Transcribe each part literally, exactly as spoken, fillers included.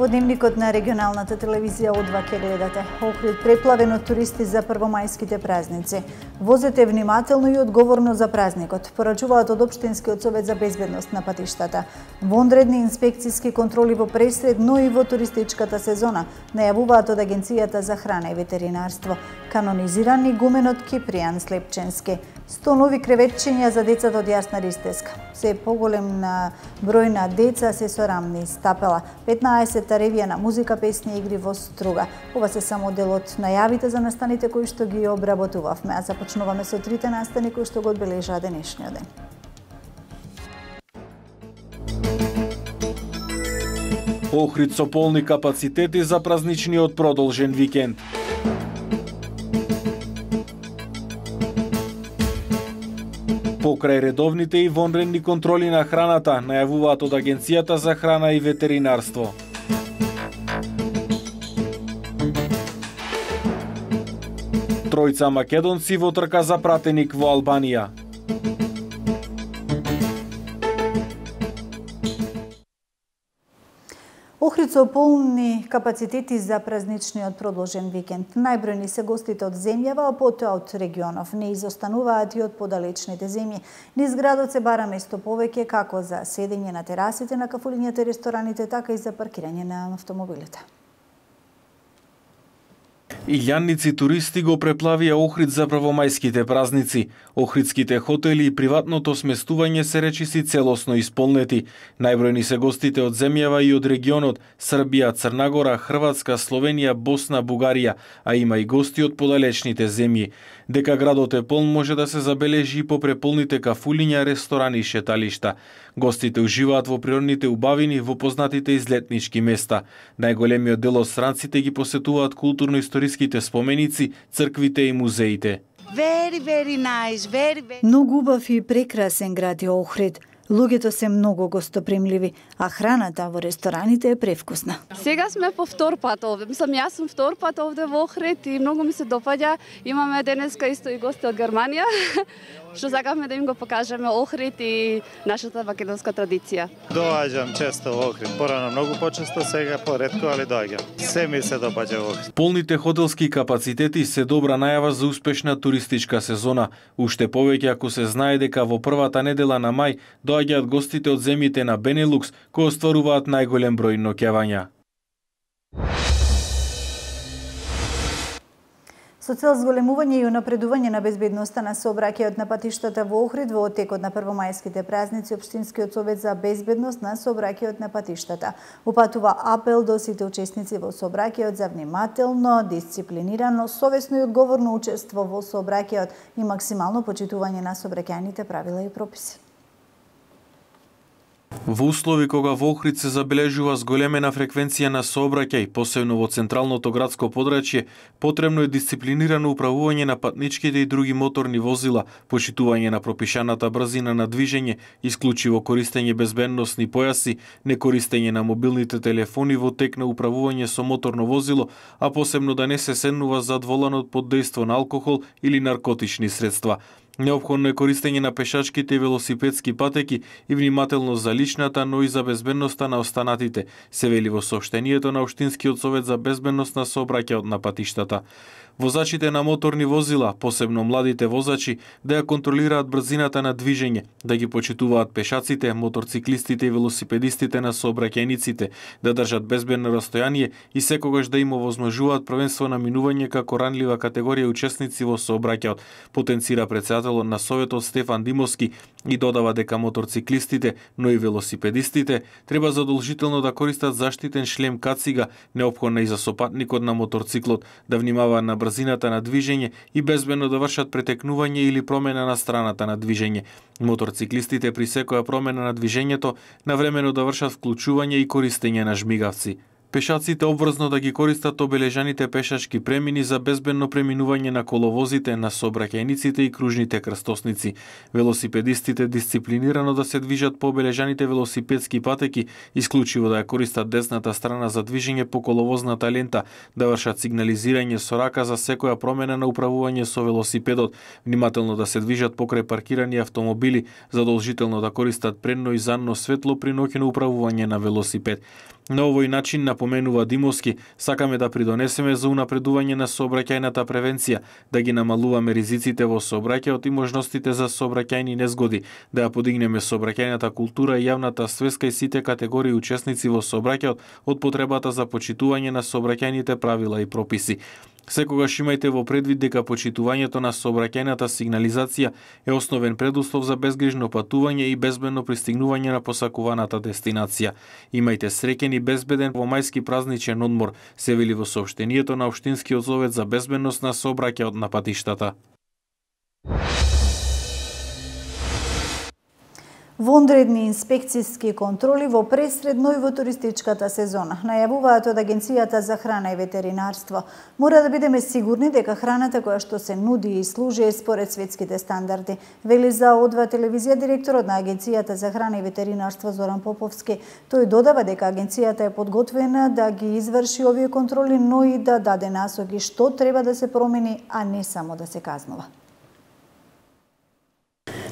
Дневникот на регионалната телевизија одва ќе гледате. Охрид преплавен од туристи за првомајските празници. Возете внимателно и одговорно за празникот, порачуваат од Општинскиот совет за безбедност на патиштата. Вонредни инспекцијски контроли во пресред, но и во туристичката сезона, најавуваат од Агенцијата за храна и ветеринарство. Канонизиран игуменот Кипријан Слепченски. сто нови креветчиња за децата од Јасна Ристеска. Се поголем на број на деца се со рамни стапела. петнаесет ревија на музика, песни и игри во струга. Ова се само дел од најавите за настаните кои што ги обработувавме, а започнуваме со трите настани кои што го одбележаа денешниот ден. Охрид со полни капацитети за празничниот продолжен викенд. Покрај редовните и вонредни контроли на храната, најавуваат од Агенцијата за храна и ветеринарство. Тројца македонци во трка за пратеник во Албанија. Охрид со полни капацитети за празничниот продолжен викенд. Најбројни се гостите од земјава, а потоа од регионов. Не изостануваат и од подалечните земји. Низ градот се бара место повеќе како за седење на терасите на кафулињата и рестораните, така и за паркирање на автомобилите. Илјанници туристи го преплавија Охрид за првомајските празници. Охридските хотели и приватното сместување се речиси целосно исполнети. Најбројни се гостите од земјава и од регионот Србија, Црна Гора, Хрватска, Словенија, Босна, Бугарија, а има и гости од подалечните земји. Дека градот е полн може да се забележи и по преполните кафулиња, ресторани и шеталишта. Гостите уживаат во природните убавини во познатите излетнички места. Најголемиот дел од странците ги посетуваат културно-историските споменици, црквите и музеите. Very, very nice, very, very... Многу убав и прекрасен град е Охрид. Луѓето се многу гостопримливи, а храната во рестораните е превкусна. Сега сме по втор пат овде. Мислам, јас сум втор пат овде во Охрид и многу ми се допаѓа. Имаме денеска исто и гости од Германија, што сакавме да им го покажеме Охрид и нашата македонска традиција. Доаѓам често во Охрид. Порано многу почесто, сега поретко, али доаѓам. Се ми се допаѓа во Охрид. Полните хотелски капацитети се добра најава за успешна туристичка сезона. Уште повеќе ако се знае дека во првата недела на мај доаѓаат гостите од земјите на Бенелукс, кои остваруваат најголем број ноќевања. Со цел зголемување и унапредување на безбедноста на сообраќајот на патиштата во Охрид во оттекот на првомајските празници, Општинскиот совет за безбедност на сообраќајот на патиштата упатува апел до сите учесници во сообраќајот за внимателно, дисциплинирано, совесно и одговорно учество во сообраќајот и максимално почитување на сообраќајните правила и прописи. Во услови кога во Охрид се забележува зголемена фреквенција на сообраќај, посебно во централното градско подрачје, потребно е дисциплинирано управување на патничките и други моторни возила, почитување на пропишаната брзина на движење, исклучиво користење безбедносни појаси, некористење на мобилните телефони во тек на управување со моторно возило, а посебно да не се седнува зад воланот под дејство на алкохол или наркотични средства. Неопходно е користење на пешачките и велосипедски патеки и внимателно за личната, но и за безбедноста на останатите, се вели во соопштението на Општинскиот совет за безбедност на сообраќајот на патиштата. Возачите на моторни возила, посебно младите возачи, да ја контролираат брзината на движење, да ги почитуваат пешаците, моторциклистите и велосипедистите на сообраќајниците, да држат безбедно растојание и секогаш да им овозможуваат првенство на минување како ранлива категорија учесници во сообраќајот, потенцира претседателот на Советот Стефан Димовски и додава дека моторциклистите, но и велосипедистите треба задолжително да користат заштитен шлем кацига, неопходна и за сопатникот на моторциклот, да внимаваат на брзината на движење и безбедно да вршат претекнување или промена на страната на движење. Моторциклистите при секоја промена на движењето навремено да вршат вклучување и користење на жмигавци. Пешаците обврзно да ги користат обележаните пешачки премини за безбедно преминување на коловозите, на сообраќајниците и кружните крстосници. Велосипедистите дисциплинирано да се движат по обележаните велосипедски патеки, исклучиво да ја користат десната страна за движење по коловозната лента, да вршат сигнализирање со рака за секоја промена на управување со велосипедот, внимателно да се движат покрај паркирани автомобили, задолжително да користат предно и задно светло при ноќно управување на велосипед. На овој начин, напоменува Димовски, сакаме да придонесеме за унапредување на сообраќајната превенција, да ги намалуваме ризиците во сообраќајот и можностите за сообраќајни незгоди, да ја подигнеме сообраќајната култура и јавната свеска и сите категории учесници во сообраќајот од потребата за почитување на сообраќајните правила и прописи. Секогаш имајте во предвид дека почитувањето на сообраќајната сигнализација е основен предуслов за безгрижно патување и безбедно пристигнување на посакуваната дестинација. Имајте среќен и безбеден помајски празничен одмор, се вели во соопштението на Општинскиот совет за безбедност на сообраќајот на патиштата. Вонредни инспекцијски контроли во пресредно и во туристичката сезона. Најавуваат од Агенцијата за храна и ветеринарство. Мора да бидеме сигурни дека храната која што се нуди и служи е според светските стандарди, вели за О два телевизија директорот на Агенцијата за храна и ветеринарство Зоран Поповски. Тој додава дека агенцијата е подготвена да ги изврши овие контроли, но и да даде насоки што треба да се промени, а не само да се казнува.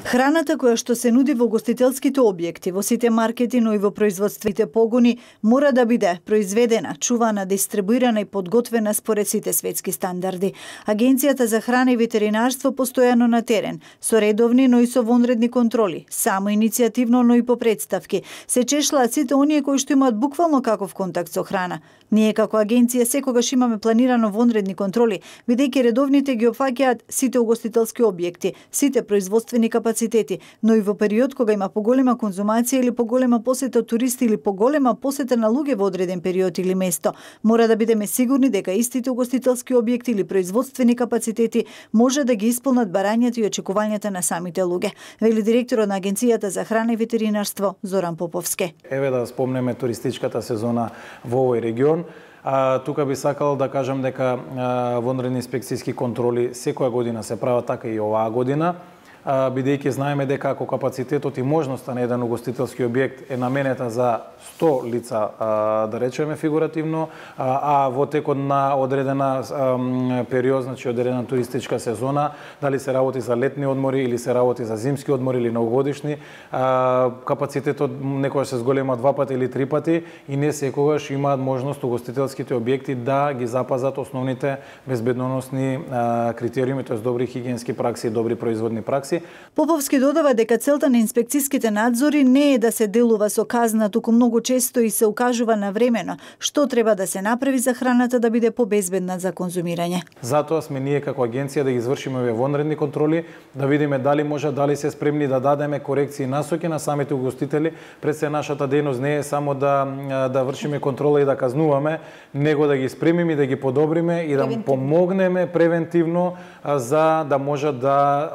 Храната која што се нуди во гостителските објекти, во сите маркети, но и во производствените погони, мора да биде произведена, чувана, дистрибуирана и подготвена според сите светски стандарди. Агенцијата за храна и ветеринарство постојано на терен, со редовни, но и со вонредни контроли, само иницијативно, но и по представки, се чешлаат сите оние кои што имаат буквално каков контакт со храна. Ние како агенција секогаш имаме планирано вонредни контроли, бидејќи редовните ги опфаќаат сите угостителски објекти, сите производствени капацитети, но и во период кога има поголема конзумација или поголема посета туристи или поголема посета на луѓе во одреден период или место, мора да бидеме сигурни дека истите угостителски објекти или производствени капацитети може да ги исполнат барањата и очекувањата на самите луѓе, вели директорот на Агенцијата за храна и ветеринарство Зоран Поповски. Еве да спомнеме туристичката сезона во овој регион. А, тука би сакал да кажам дека а, вонредни инспекцијски контроли секоја година се прават, така и оваа година, а, бидејќи знаеме дека ако капацитетот и можноста на еден угостителски објект е наменета за сто лица, а, да речеме фигуративно, а, а во текот на одредена а, период, значи одредена туристичка сезона, дали се работи за летни одмори или се работи за зимски одмори или новогодишни, а, капацитетот некогаш се зголема два пати или три пати и не секогаш имаат можност угостителските објекти да ги запазат основните безбедносни а, критериуми, тоест добри хигиенски пракси и добри производни пракси. Поповски додава дека целта на инспекцијските надзори не е да се делува со казна, туку многу често и се укажува навремено што треба да се направи за храната да биде побезбедна за конзумирање. Затоа сме ние како агенција да ги извршиме овие вонредни контроли, да видиме дали може, дали се спремни да дадеме корекции и насоки на самите угостители. Пред се нашата дејност не е само да да вршиме контрола и да казнуваме, него да ги спремиме и да ги подобриме и да помогнеме превентивно за да можат да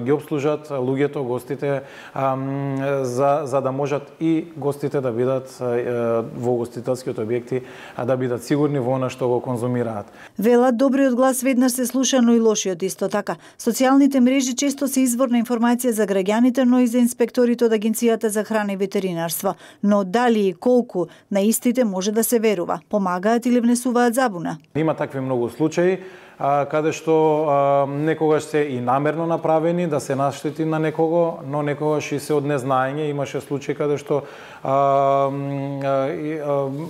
ги обслужат луѓето, гостите, за за да можат и гостите да бидат во угостителските објекти, а да бидат сигурни во она што го конзумираат. Велат добриот глас веднаш се слуша, но и лошиот исто така. Социјалните мрежи често се извор на информација за граѓаните, но и за инспекторите од Агенцијата за храна и ветеринарство. Но дали и колку на истите може да се верува? Помагаат или внесуваат забуна? Има такви многу случаи каде што а, некогаш се и намерно направени да се наштети на некого, но некогаш и се од незнаење. Имаше случаи каде што а, а, и, а,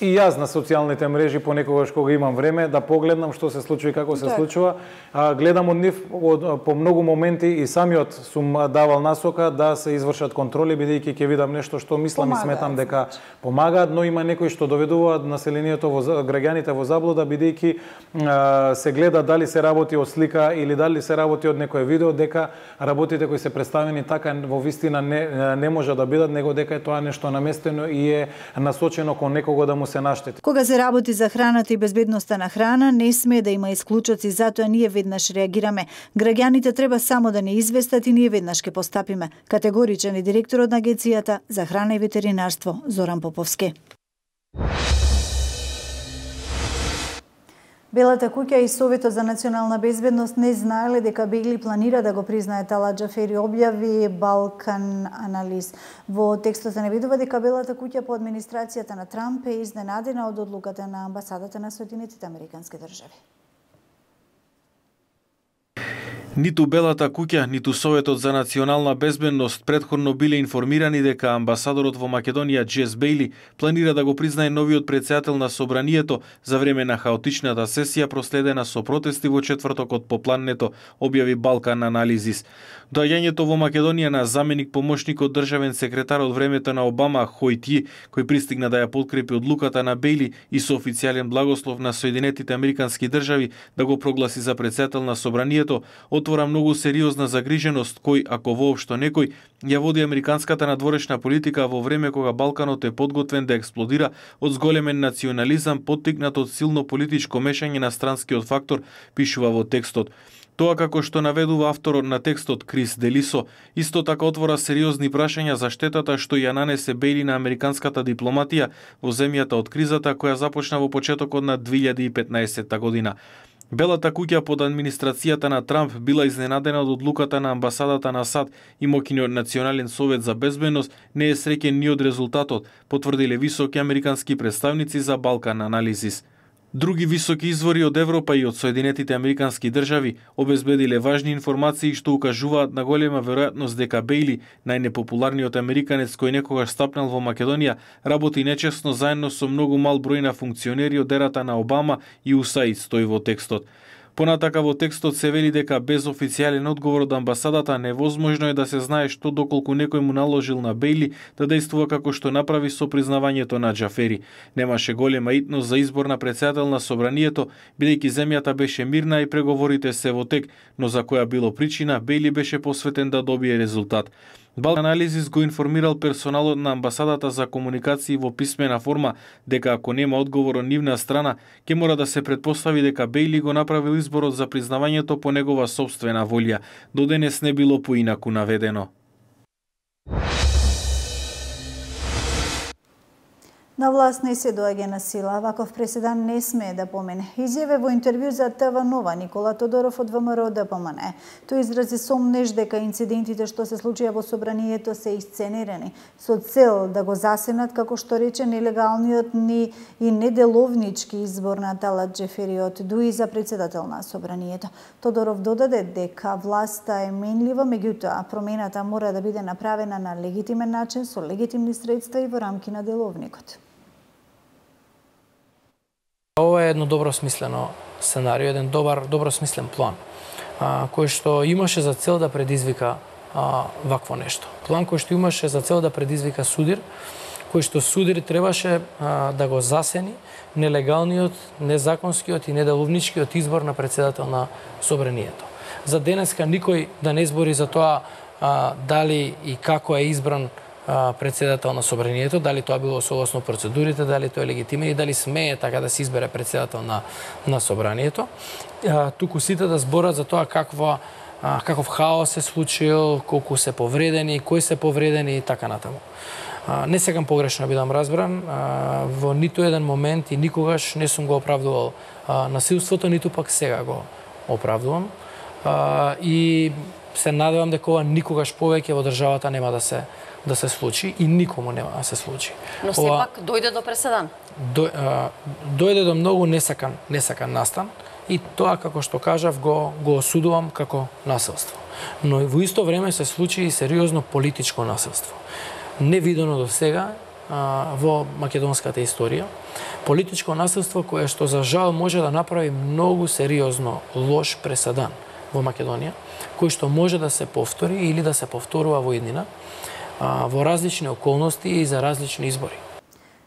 и јас на социјалните мрежи понекогаш кога имам време да погледнам што се случува и како се случува, а, гледам од нив од, по многу моменти и самиот сум давал насока да се извршат контроли, бидејќи ќе видам нешто што мислам помагаат, и сметам дека помагаат, но има некои што доведуваат населението во граѓаните во заблуда, бидејќи а, се гледа дали се работи од слика или дали се работи од некое видео, дека работите кои се представени така во вистина не, не може да бидат, него дека е тоа нешто наместено и е насочено кон некого да му се наштети. Кога се работи за храната и безбедноста на храна, не смее да има исклучоци, затоа ние веднаш реагираме. Граѓаните треба само да не известат и ние веднаш ќе постапиме. Категоричен е директорот на Агенцијата за храна и ветеринарство Зоран Поповски. Белата куќа и Советот за национална безбедност не знаеле дека Бегли планира да го признае Талат Џафери, објави Балкан Анализ. Во текстот се наведува дека Белата куќа по администрацијата на Трамп е изненадена од одлуката на амбасадата на Соединетите Американски држави. Ниту Белата куќа, ниту Советот за национална безбедност претходно биле информирани дека амбасадорот во Македонија Джес Бејли планира да го признае новиот претседател на собранието за време на хаотичната сесија проследена со протести во четвртокот по плането, објави Балкан Анализис. Доаѓањето во Македонија на заменик помошникот државен секретар од времето на Обама Хојти, кој пристигна да ја подкрепи одлуката на Бејли и со официјален благослов на Соединетите Американски држави да го прогласи за претседател на собранието, отвора многу сериозна загриженост кој, ако воопшто некој, ја води американската надворешна политика во време кога Балканот е подготвен да експлодира од зголемен национализам поттикнат од силно политичко мешање на странскиот фактор, пишува во текстот. Тоа, како што наведува авторот на текстот Крис Делисо, исто така отвора сериозни прашања за штетата што ја нанесе Бејли на американската дипломатија во земјата од кризата која започна во почетокот на две илјади и петнаесетта година. Белата куќа под администрацијата на Трамп била изненадена од одлуката на амбасадата на САД и мокиниот Национален совет за безбедност не е среќен ни од резултатот, потврдиле високи американски представници за Балкан Анализис. Други високи извори од Европа и од Соединетите Американски држави обезбедиле важни информации што укажуваат на голема веројатност дека Бејли, најнепопуларниот американец кој некогаш стапнал во Македонија, работи нечесно заедно со многу мал број на функционери од ерата на Обама и УСАИД, стои во текстот. Понатака во текстот се вели дека без официјален одговор од амбасадата невозможно е да се знае што доколку некој му наложил на Бејли да действува како што направи со признавањето на Џафери. Немаше голема итност за избор на претседател на собранието, бидејќи земјата беше мирна и преговорите се во тек, но за која било причина, Бејли беше посветен да добие резултат. Балкан Анализис го информирал персоналот на амбасадата за комуникации во писмена форма дека ако нема одговор од нивна страна, ќе мора да се претпостави дека Бејли го направил изборот за признавањето по негова сопствена волја. До денес не било поинаку наведено. На власт не се доаѓа на сила, ваков преседан не смее да помине. Изјаве во интервју за ТВ Нова Никола Тодоров од ВМРО Д П М Н. Тој изрази сомнеж дека инцидентите што се случија во собранието се исценирани, со цел да го засенат, како што рече, нелегалниот ни и неделовнички избор на Талат Џефери од ДУИ за председател на собранието. Тодоров додаде дека власта е менлива, меѓутоа промената мора да биде направена на легитимен начин, со легитимни средства и во рамки на деловникот. Ова е едно добро смислено сценарио, еден добар, добро смислен план, а, кој што имаше за цел да предизвика а, вакво нешто. План кој што имаше за цел да предизвика судир, кој што судир требаше а, да го засени нелегалниот, незаконскиот и неделовничкиот избор на председател на собранието. За денеска никој да не збори за тоа а, дали и како е избран председател на собранието, дали тоа било согласно процедурите, дали тоа е легитимен и дали смее така да се избере председател на на собранието. А, туку сите да зборат за тоа каква а, каков хаос се случил, колку се повредени, кои се повредени и така натаму. А, не сакам погрешно бидам разбран, а, во ниту еден момент и никогаш не сум го оправдувал а, насилството, ниту пак сега го оправдувам. А, и се надевам дека ова никогаш повеќе во државата нема да се да се случи и никому нема да се случи. Но сепак дојде до преседан. До, а, дојде до многу несакан, несакан настан и тоа, како што кажав, го, го осудувам како насилство. Но во исто време се случи и сериозно политичко насилство. Невидено до сега а, во македонската историја. Политичко насилство кое што за жал може да направи многу сериозно лош преседан во Македонија, кој што може да се повтори или да се повторува во иднина, во различни околности и за различни избори.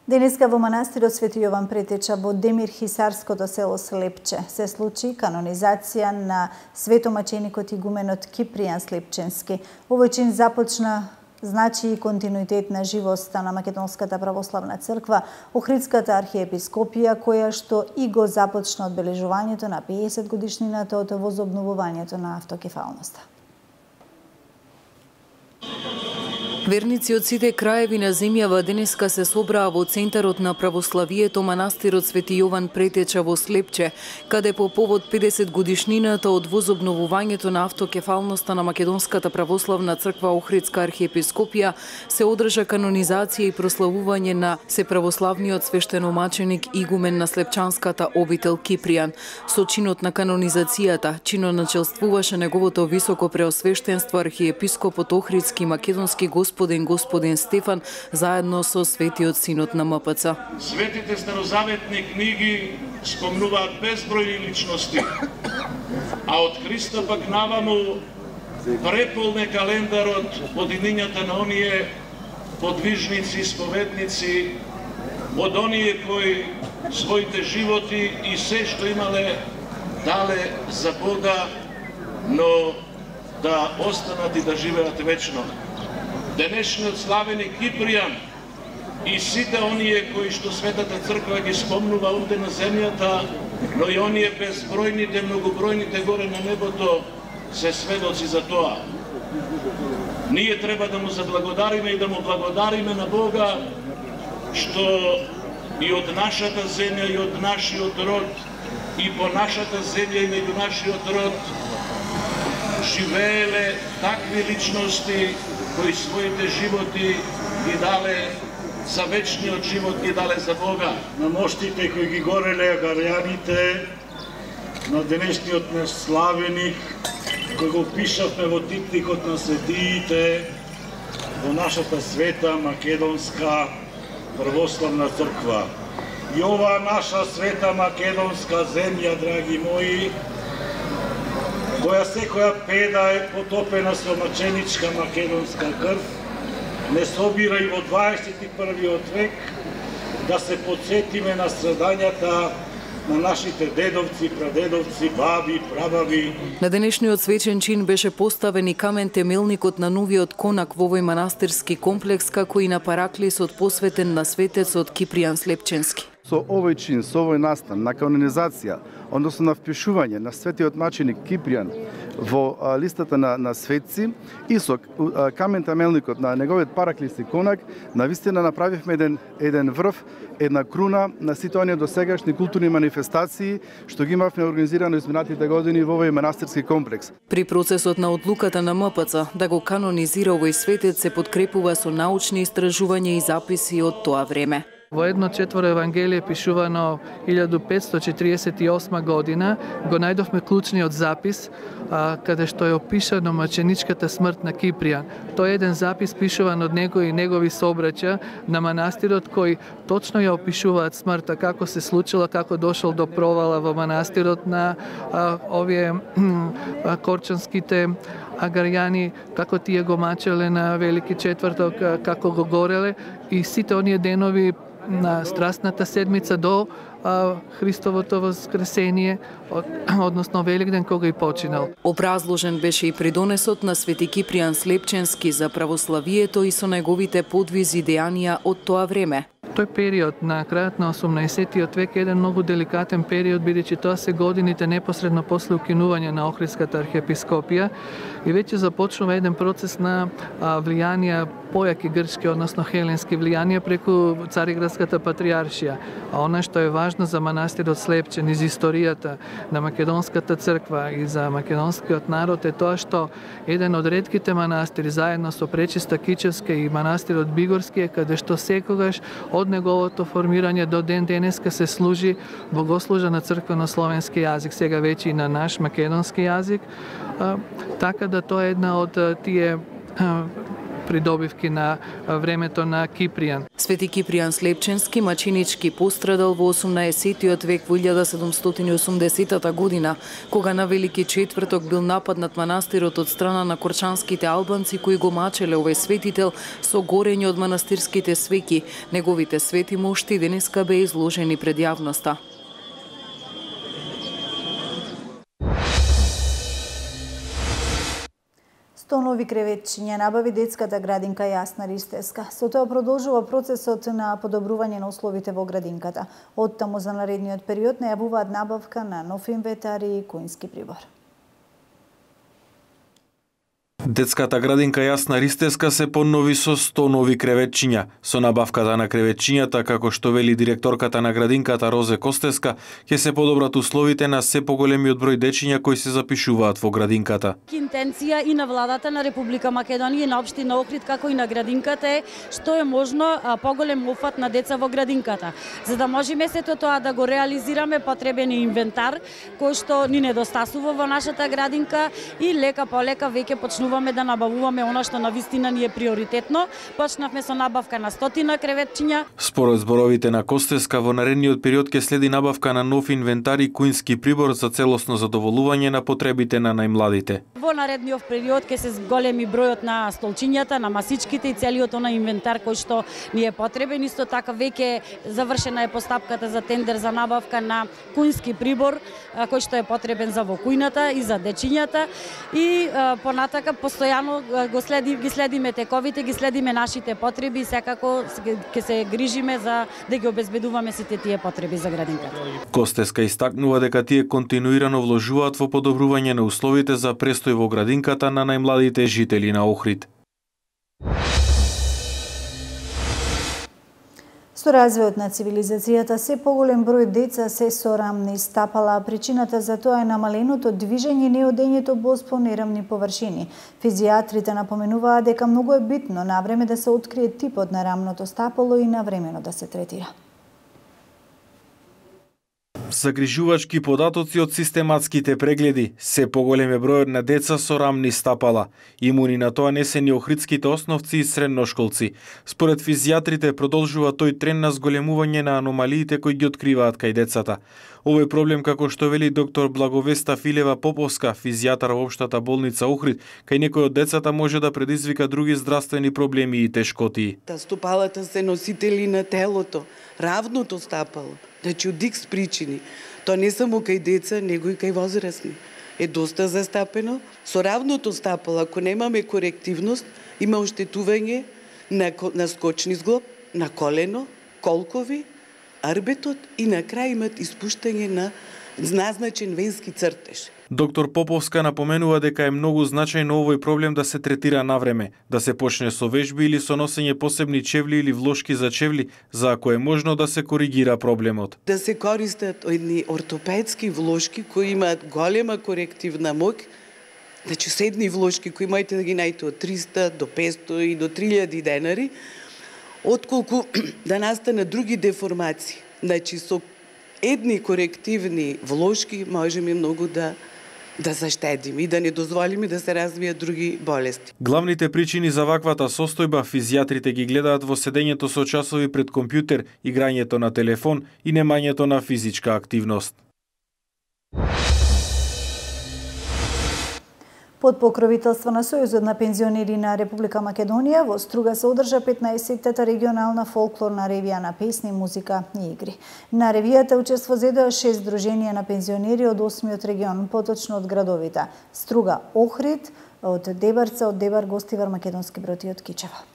Денеска во манастирот Свети Јован Претеча во Демир Хисарското село Слепче се случи канонизација на светомаченикот игуменот Кипријан Слепченски. Овој чин започна значи и континуитет на живоста на Македонската православна црква, Охридската архиепископија, која што и го започна одбележувањето на педесет годишнината од возобновувањето на автокефалноста. Верници од сите краеви на земјава денеска се собраа во центарот на православието манастирот Свети Јован Претеча во Слепче, каде по повод педесет годишнината од возобновувањето на автокефалноста на Македонската православна црква Охридска архиепископија се одржа канонизација и прославување на сеправославниот свештеномаченик игумен на Слепчанската обител Кипријан. Со чинот на канонизацијата чиноначелствуваше неговото високо преосвештенство архиепископот Охридски македонски господин господин Стефан заедно со светиот синот на М П Ц. Светите старозаветни книги спомнуваат безбројни личности, а од Христа пак наваму преполне календарот од имињата на оние подвижници, споведници, од оние кои своите животи и се што имале дале за Бога, но да останат и да живеат вечно. Денешниот славени Кипријан и сите оние кои што Светата Црква ги спомнува онде на земјата, но и оние безбројните, многобројните горе на небото се сведоци за тоа. Ние треба да му заблагодариме и да му благодариме на Бога што и од нашата земја и од нашиот род и по нашата земја и меѓу нашиот род живееле такви личности кои своите животи ги дале за вечниот живот, ги дале за Бога. На моштите кои ги гореле агарјаните, на денешниот наш славеник, кој го пишавме во типникот на светиите, во нашата света Македонска православна црква. И ова наша света македонска земја, драги мои, која секоја педа е потопена со маченичка македонска крв, не собира и во дваесет и првиот век да се подсетиме на страдањата на нашите дедовци, прадедовци, баби, прабаби. На денешниот свечен чин беше поставен и камен темелникот на новиот конак во овој манастирски комплекс, како и на параклисот посветен на светецот Кипријан Слепченски. Со овој чин, со овој настан на канонизација, односно на впишување на светиот маченик Кипријан во а, листата на, на светци и со а, камен темелникот на неговиот параклис и конак, навистина направивме еден, еден врв, една круна на сите оние досегашни културни манифестации што ги имавме организирано изминатите години во овој манастирски комплекс. При процесот на одлуката на М П Ц да го канонизира овој светец се подкрепува со научни истражувања и записи од тоа време. Во едно четворо Евангелие пишувано илјада петстотини четиридесет и осма година го најдовме клучниот запис а, каде што е опишано маченичката смрт на Кипријан. Тој е еден запис пишуван од него и негови собраќа на манастирот кои точно ја опишуваат смртта, како се случила, како дошол до провала во манастирот на а, овие а, корчанските агарјани, како тие го мачеле на Велики четврток, како го гореле и сите оние денови на страстната седмица до а, Христовото воскресение, од, односно Великден кога и починал. Образложен беше и придонесот на Свети Кипријан Слепченски за православието и со неговите подвизи и дејанија од тоа време. Тој период на крајот на осумнаесеттиот век е еден многу деликатен период, бидејќи тоа се годините непосредно после укинување на Охридската архиепископија и веќе започнува еден процес на а, влијанија појаки грчки, односно хеленски влијанија преку Цариградската патриаршија. А она што е важно за манастирот Слепчен из историјата на Македонската црква и за македонскиот народ е тоа што еден од ретките манастири заедно со Пречиста Кичевска и манастирот Бигорски е каде што секогаш од неговото формирање до ден денеска се служи богослужа на црквено-словенски јазик, сега веќе и на наш македонски јазик, а, така да тоа е една од тие а, придобивки на времето на Кипријан. Свети Кипријан Слепченски маченички пострадал во осумнаесеттиот век во илјада седумстотини и осумдесетата година, кога на Велики четврток бил нападнат манастирот од страна на корчанските албанци кои го мачеле овој светител со горење од манастирските свеќи. Неговите свети мошти денеска беа изложени пред јавноста. сто нови креветчиња набави детската градинка Јасна Ристеска. Со тоа продолжува процесот на подобрување на условите во градинката. Од таму за наредниот период најавуваат набавка на нов инвентар и коњски прибор. Детската градинка Јасна Ристеска се поднови со сто нови креветчиња. Со набавката на креветчињата, како што вели директорката на градинката Розе Костеска, ќе се подобрат условите на се поголемиот број дечиња кои се запишуваат во градинката. Интенција и на владата на Република Македонија и на општина Охрид, како и на градинката е што е можно поголем офат на деца во градинката. За да можеме сето тоа да го реализираме, потребен е инвентар кој што ни недостасува во нашата градинка и лека по лека веќе почнуваме да набавуваме она што навистина ни е приоритетно. Почнавме со набавка на стотина креветчиња. Според зборовите на Костеска, во наредниот период ќе следи набавка на нов инвентар и куински прибор за целосно задоволување на потребите на најмладите. Во наредниот период ќе се зголеми бројот на столчињата, на масичките и целиот оној инвентар кој што ни е потребен. Исто така веќе завршена е постапката за тендер за набавка на куински прибор кој што е потребен за во кујната и за дечињата и понатака постојано го следи, ги следиме тековите, ги следиме нашите потреби и секако ќе се грижиме за да ги обезбедуваме сите тие потреби за градинката. Костеска истакнува дека тие континуирано вложуваат во подобрување на условите за престој во градинката на најмладите жители на Охрид. Со развојот на цивилизацијата, се поголем број деца се со рамни стапала, а причината за тоа е намаленото движење и неодењето боз по нерамни површини. Физијатрите напоменуваат дека многу е битно навреме да се открие типот на рамното стапало и навремено да се третира. Загрижувачки податоци од систематските прегледи, се поголем е бројот на деца со рамни стапала. Имуни на тоа не се ни охридските основци и средношколци. Според физијатрите продолжува тој тренд на зголемување на аномалиите кои ги откриваат кај децата. Овој проблем, како што вели доктор Благовеста Филева Поповска, физијатар во општата болница Охрид, кај некои од децата може да предизвика други здравствени проблеми и тешкотии. Стапалата се носители на телото, равното стапало. Значи, од икс причини. Тоа не само кај деца, него и кај возрастни. Е доста застапено. Со равното стапало, ако немаме корективност, има оштетување на, на скочни зглоб, на колено, колкови, арбетот и на крај имат испуштање на назначен венски цртеж. Доктор Поповска напоменува дека е многу значајно овој проблем да се третира навреме, да се почне со вежби или со носење посебни чевли или влошки за чевли, за ако е можно да се коригира проблемот. Да се користат едни ортопедски влошки кои имаат голема корективна моќ, значи седни влошки кои можете да ги најдете од триста до петстотини и до три илјади денари, отколку да настанат други деформации. Значи со едни корективни влошки можеме многу да да заштедиме и да не дозволиме да се развијат други болести. Главните причини за ваквата состојба физијатрите ги гледаат во седењето со часови пред компјутер, играњето на телефон и немањето на физичка активност. Под покровителство на Сојузот на пензионери на Република Македонија, во Струга се одржа петнаесеттата регионална фолклорна ревија на песни, музика и игри. На ревијата учество зедоа шест здруженија на пензионери од осмиот регион, поточно од градовите Струга, Охрид, од Дебарца, од Дебар, Гостивар, Македонски Брод и од Кичево.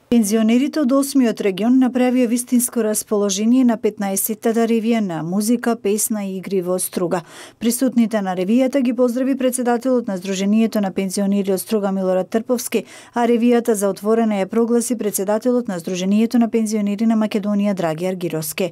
Пензионерите од осмиот регион направија вистинско расположение на петнаесеттата ревија на музика, песна и игри во Струга. Присутните на ревијата ги поздрави председателот на Сдруженијето на пензионери од Струга Милорад Трповски, а ревијата за отворена ја прогласи председателот на Сдруженијето на пензионери на Македонија Драги Аргировски.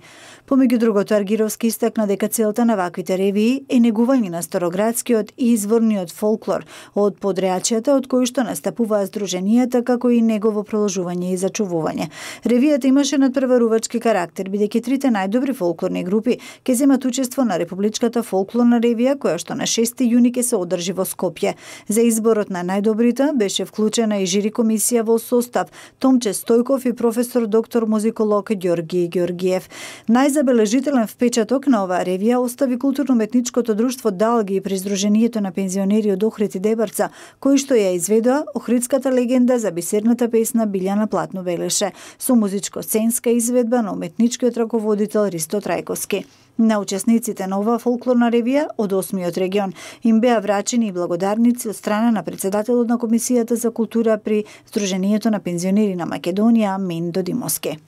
Помеѓу другото, Аргировски истакна дека целта на ваквите ревии е негување на староградскиот и изворниот фолклор од подреачјата од кои што настапуваат здруженијата, како и негово продолжување и зачувување. Ревијата имаше надпреварувачки карактер, бидејќи трите најдобри фолклорни групи ќе земат учество на Републичката фолклорна ревија, која што на шести јуни ќе се одржи во Скопје. За изборот на најдобрите беше вклучена и жири комисија во состав Томче Стојков и професор доктор музиколог Ѓорги Ѓоргиев. Најзабележителен впечаток на оваа ревија остави културно-уметничкото друштво Далги при Сдруженијето на пензионери од Охрид и Дебарца, кои што ја изведоа охридската легенда за бисерната песна Билјана Платно велеше, со музичко-сценска изведба на уметничкиот раководител Ристо Трајковски. На учесниците на оваа фолклорна ревија од осмиот регион им беа врачени и благодарници од страна на председателот на Комисијата за култура при Сдруженијето на пензионери на Македонија Мин Додимовски.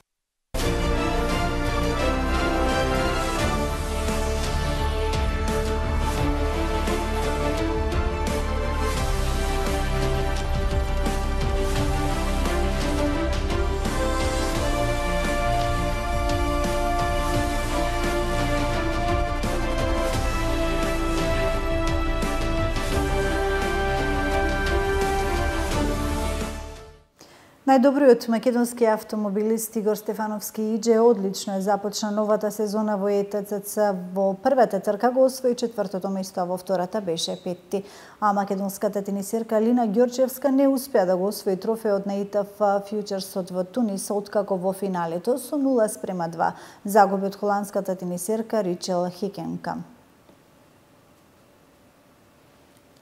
Најдобриот македонски автомобилист Игор Стефановски Идже одлично е започна новата сезона во Е Т Ц Ц. Во првата трка го освои четвртото место, а во втората беше петти. А македонската тенисерка Лина Ѓорчевска не успеа да го освои трофеот на И Т Ф Фјучерсот во Тунис, откако во финалето со нула спрема два загуби од холандската тенисерка Ричел Хикенка.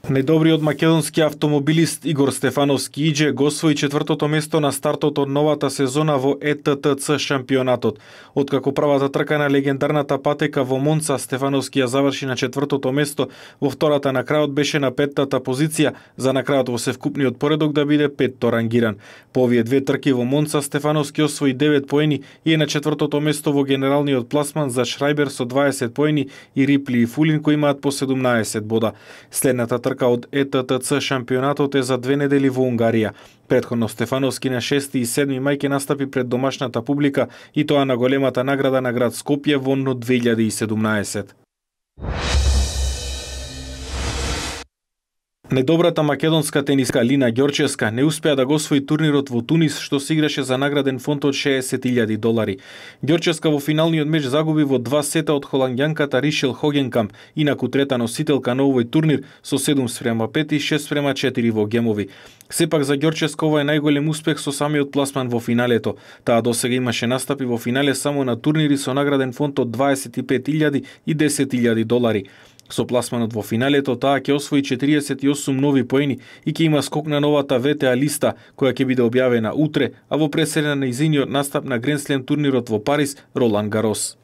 Најдобриот македонски автомобилист Игор Стефановски Идже го освои четвртото место на стартот од новата сезона во Е Т Т Ц шампионатот. Откако првата трка на легендарната патека во Монца, Стефановски ја заврши на четвртото место, во втората на крајот беше на петтата позиција, за на крајот во севкупниот поредок да биде петто рангиран. По овие две трки во Монца, Стефановски освои девет поени и е на четвртото место во генералниот пласман за Шрајбер со дваесет поени и Рипли и Фулин кои имаат по седумнаесет бода. Следната трка од Е Т Т Ц шампионатот е за две недели во Унгарија. Претходно Стефановски на шести и седми мај ќе настапи пред домашната публика и тоа на големата награда на град Скопје во НО две илјади и седумнаесет. Најдобрата македонска тениска Лина Ѓорчевска не успеа да го освои турнирот во Тунис, што се играше за награден фонд од шеесет илјади долари. Ѓорчевска во финалниот меч загуби во два сета од холанѓанката Ришел Хогенкамп, инаку трета носителка на овој турнир со седум спрема пет и шест спрема четири во гемови. Сепак за Ѓорчевска ова е најголем успех со самиот пласман во финалето. Таа досега имаше настапи во финале само на турнири со награден фонд од дваесет и пет илјади и десет илјади долари. Со пласманот во финалето таа ќе освои четириесет и осум нови поени и ќе има скок на новата В Т А листа која ќе биде објавена утре, а во преседа на нејзиниот настап на Гранд Слем турнирот во Париз, Ролан Гарос.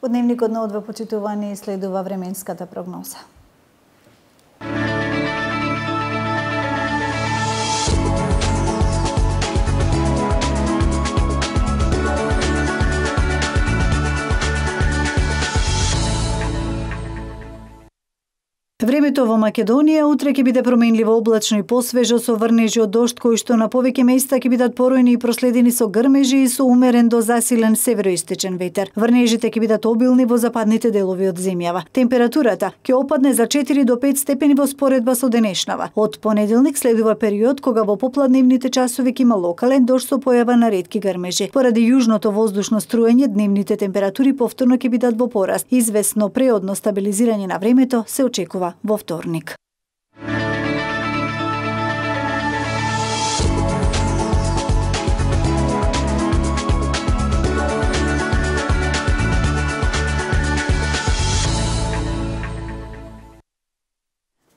Во дневникот на Одва, почитувани, следува временската прогноза. Времето во Македонија утре ќе биде променливо облачно и посвежо со врнежи од дожд кои што на повеќе места ќе бидат поројни и проследени со грмежи и со умерен до засилен североисточен ветер. Врнежите ќе бидат обилни во западните делови од земјава. Температурата ќе опадне за четири до пет степени во споредба со денешнава. Од понеделник следува период кога во попладневните часови ќе има локален дожд со појава на ретки грмежи. Поради јужното воздушно струење, дневните температури повторно ќе бидат во пораст. Извесно преодно стабилизирање на времето се очекува во вторник.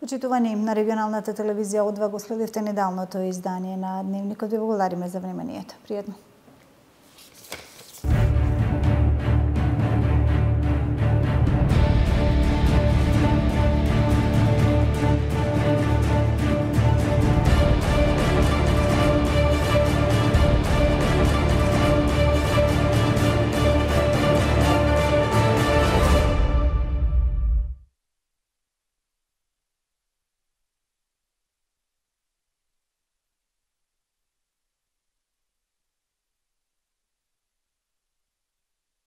Почитувани, на регионалната телевизија Одва го следевте неделното издание на Дневникот. Ви благодариме за вниманието. Пријатно.